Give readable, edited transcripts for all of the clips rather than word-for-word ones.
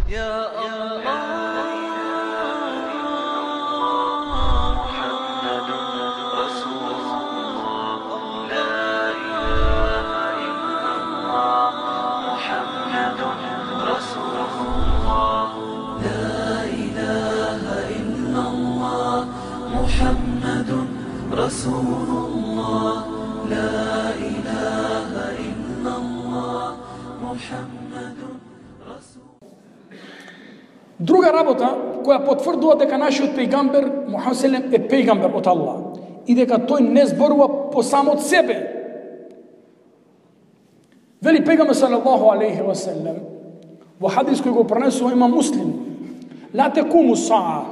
يا الله محمد رسول الله لا إله إلا الله محمد رسول الله لا إله إلا الله محمد رسول الله لا إله إلا الله محمد رسول. Друга работа која потврдува дека нашиот пејгамбер Мухамед селем е пејгамбер од Аллах и дека тој не зборува по само од себе. Вели пејгамбер салаллаху алейхи ва селем во хадис кој го пренесува има Муслим: ла текуму саа,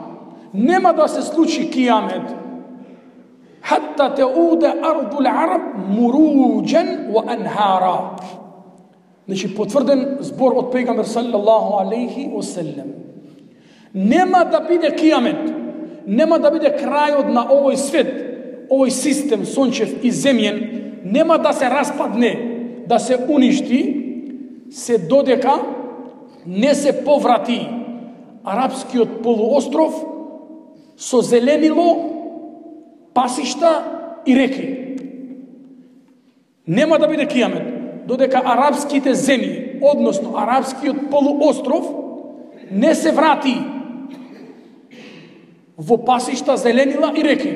нема да се случи кијамет хатта теуде ардул араб муруџен ва анхара. Значи потврден збор од пејгамбер салаллаху алейхи ва селем. Нема да биде кијамет, нема да биде крајот на овој свет, овој систем сончев и земјен, нема да се распадне, да се уништи, се додека не се поврати арапскиот полуостров со зеленило, пасишта и реки. Нема да биде кијамет додека арапските земји, односно арапскиот полуостров, не се врати во пасишта, зеленила и реки.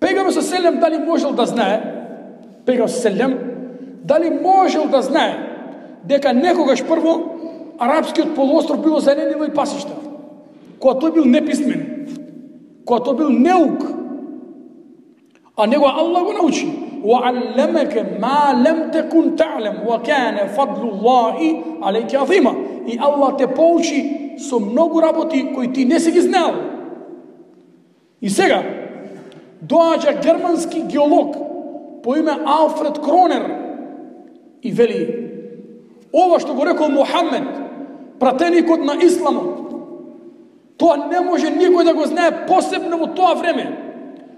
Пејгамбер селем дали можел да знае, пејгамбер селем дали можел да знае дека некогаш прво арапскиот полуостров било зеленило и пасишта, кога тој бил неписмен, кога тој бил неук, а него Аллах го научи: وَعَلَّمَكَ مَا لَمْ تَكُنْ تَعْلَمْ وَكَانَ فَضْلُ اللَّهِ عَلَيْكَ عَظِيمًا. И Аллах те поучи со многу работи кои ти не си ги знаел. И сега доаѓа германски геолог по име Алфред Кронер и вели: ова што го рекол Мухамед, пратеникот на исламот, тоа не може никој да го знае, посебно во тоа време.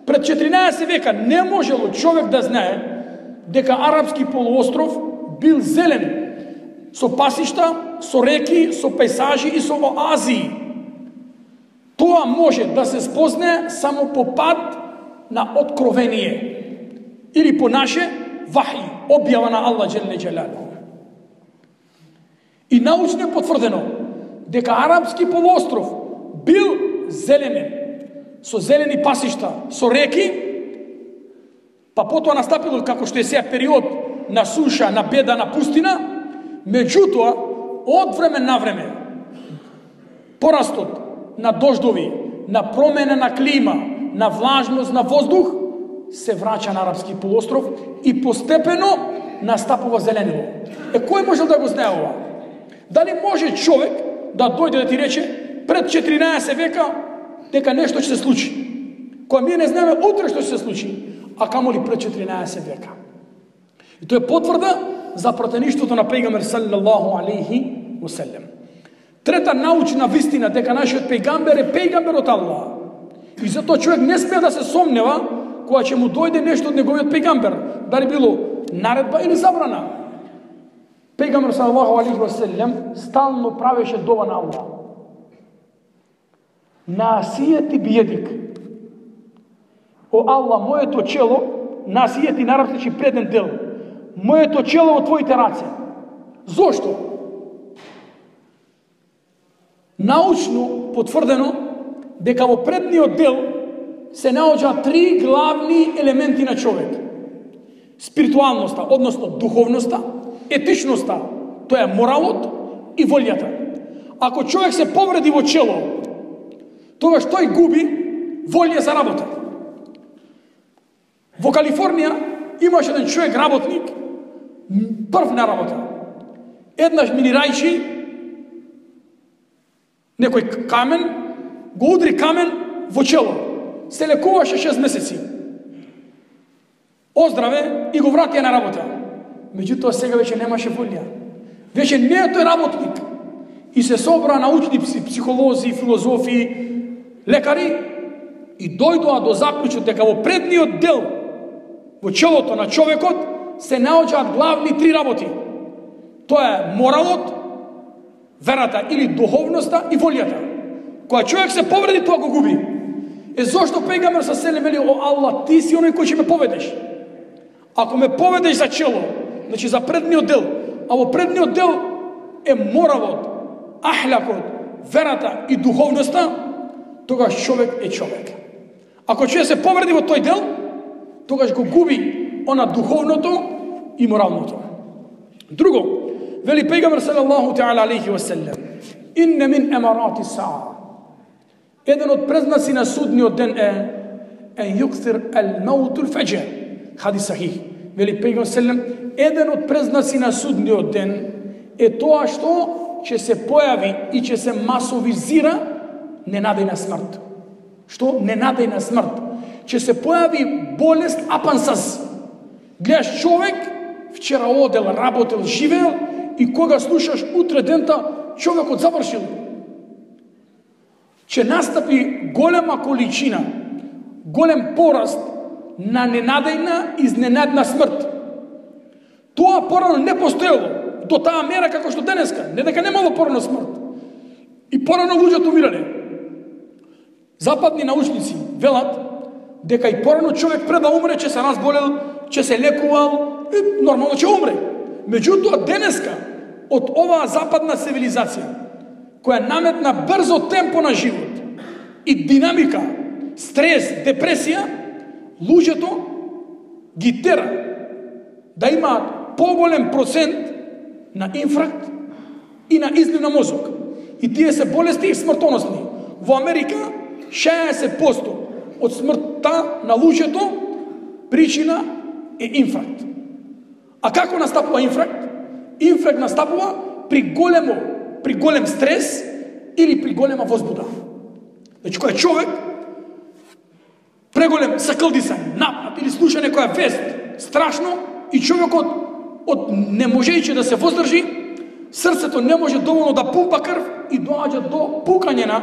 Пред 14 века не можело човек да знае дека арапски полуостров бил зелен, со пасишта, со реки, со пейзажи и со оазии. Тоа може да се спознае само по пат на откровение или по наше вахи, објава на Аллах джелле джелалуху. И научно е потврдено дека арапски полуостров бил зеленен, со зелени пасишта, со реки, па потоа настапило како што е сега период на суша, на беда, на пустина. Меѓутоа, од време на време, порастот на дождови, на промена на клима, на влажност на воздух, се враќа на арапски полуостров и постепено настапува зеленило. Кој можел да го знае ова? Дали може човек да дојде да ти рече пред 14 века дека нешто ќе се случи, кога ние не знаеме утре што ќе се случи, а камоли пред 14 века? И тоа е потврда за пратеништвото на пејгамбер салаллаху алейхи ва селем. Трета научна вистина дека нашиот пејгамбер е пејгамбер од Аллах. И затоа човек не смее да се сомнева кога ќе му дојде нешто од неговиот пејгамбер, дали било наредба или забрана. Пејгамбер салаллаху алейхи ва селем стално правеше дова на Аллах: насијети биедик, о Аллах, моето чело, насијети на арапски преден дел, моето чело во твоите раце. Зошто? Научно потврдено дека во предниот дел се наоѓаат три главни елементи на човек: спиритуалноста, односно духовноста, етичноста, тоа е моралот, и волјата. Ако човек се повреди во чело, тогаш тој губи волја за работа. Во Калифорнија имаше еден човек работник, прв на работа. Еднаш минирајчи некој камен, го удри камен во чело. Се лекуваше 6 месеци. Оздраве и го вратија на работа. Меѓутоа сега веќе немаше волја. Веќе не е тој работник. И се собра научници, психолози, филозофи, лекари и дојдоа до заклучок дека во предниот дел, во челото на човекот, се наоѓаат главни три работи. Тоа е моралот, верата или духовноста и волјата. Кога човек се повреди, тоа го губи. Зошто пејгамбер са селем вели: о Аллах, ти си оној кој ќе ме поведеш. Ако ме поведеш за чело, значи за предниот дел, а во предниот дел е моралот, ахлакот, верата и духовноста, тогаш човек е човек. Ако човек се повреди во тој дел, тогаш го губи она духовното и моралното. Друго, вели пејгамбер салаллаху таала алейхи ва селем: инне мин емарати саа. Еден од презнаци на судниот ден е ен юктир ел маутул фаџр. Хадис сахих. Вели пејгамбер селем: еден од презнаци на судниот ден е тоа што ќе се појави и ќе се масовизира ненадејна смрт. Што? Ненадејна смрт. Ќе се појави болест апансаз. Гледаш човек, вчера одел, работел, живеел и кога слушаш утре дента, човекот завршил. Ќе настапи голема количина, голем пораст на ненадејна, изненадна смрт. Тоа порано не постоело до таа мера како што денеска. Не дека немало порано смрт. И порано луѓето умирале. Западни научници велат дека и порано човек пред да умре ќе се разболел, ќе се лекувал, и нормално ќе умре. Меѓутоа денеска од оваа западна цивилизација која наметна брзо темпо на живот и динамика, стрес, депресија, луѓето ги тера да имаат поголем процент на инфаркт и на излив на мозок. И тие се болести и смртоносни. Во Америка 60% од смртта на луѓето причина е инфаркт. А како настапува инфаркт? Инфаркт настапува при голем стрес или при голема возбуда. Значи, кој човек преголем сакълдисање, напад или слуша некоја вест страшно и човекот од не можејќи да се воздржи, срцето не може доволно да пумпа крв и доаѓа до пукање на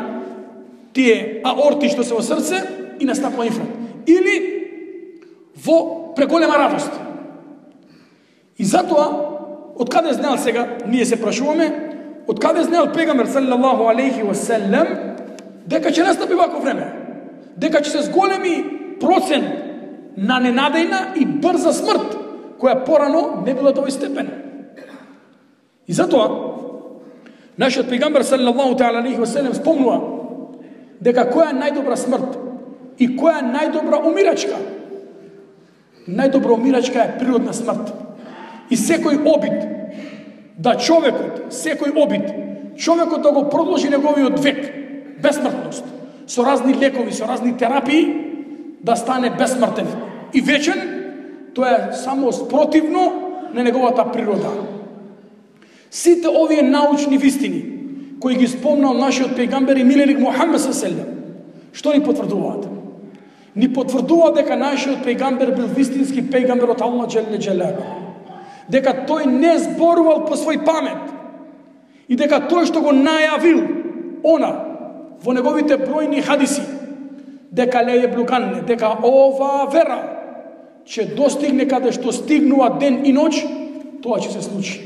тие аорти што се во срце и настапува инфаркт. Или во преголема радост. И затоа, од каде знаел сега, ние се прашуваме, од каде знаел пејгамбер салаллаху алейхи ва селем дека ќе настапи вако време, дека ќе се зголеми процент на ненадејна и брза смрт, која порано не била до овој степен. И затоа, нашиот пејгамбер салаллаху алейхи ва селем спомнува дека која е најдобра смрт и која е најдобра умирачка. Најдобра умирачка е природна смрт. И секој обид да човекот да го продолжи неговиот век, безсмртност, со разни лекови, со разни терапии, да стане безсмртен и вечен, тоа е само спротивно на неговата природа. Сите овие научни вистини кои ги спомнал нашиот пејгамбер и миленик Мухамед ﷺ, што ни потврдуваат? Ни потврдуваат дека нашиот пејгамбер бил вистински пејгамбер од Аллах џелле џелалу. Дека тој не зборувал по свој памет и дека тој што го најавил она во неговите бројни хадиси, дека ле еблуганне, дека ова вера ќе достигне каде што стигнува ден и ноќ, тоа ќе се случи.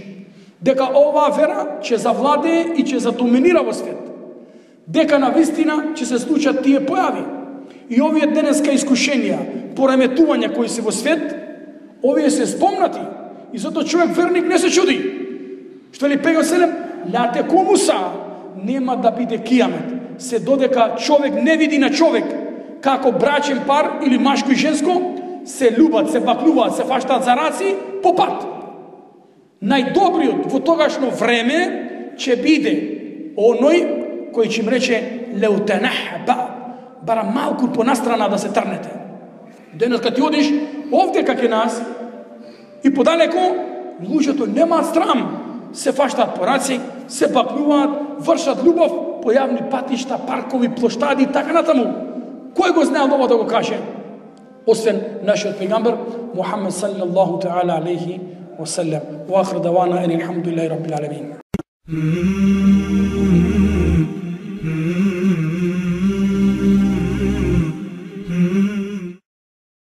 Дека ова вера ќе завладее и ќе задоминира во свет. Дека на вистина ќе се случат тие појави. И овие денеска искушенија, пореметувања кои се во свет, овие се спомнати. И затоа човек верник не се чуди. Што ли пејгамбер селем, ла текуму саа, нема да биде кијамет, се додека човек не види на човек како брачен пар или машко и женско, се љубат, се бакнуваат, се фаштаат за раци по пат. Најдобриот во тогашно време ќе биде оној кој ќе им рече леутенахба, бара малку понастрана да се трнете. Денес кога ти одиш овде кај нас и подалеку, луѓето немаат срам, се фаштаат по раци, се бакнуваат, вршат љубов по јавни патишта, паркови, плоштади и така натаму. Кој го знаел ова да го каже? Освен нашиот пејгамбер Мухамед саллаллаху таала алейхи ва саллем. Ва ахир давана ани алхамдулиллахи раббил алемин.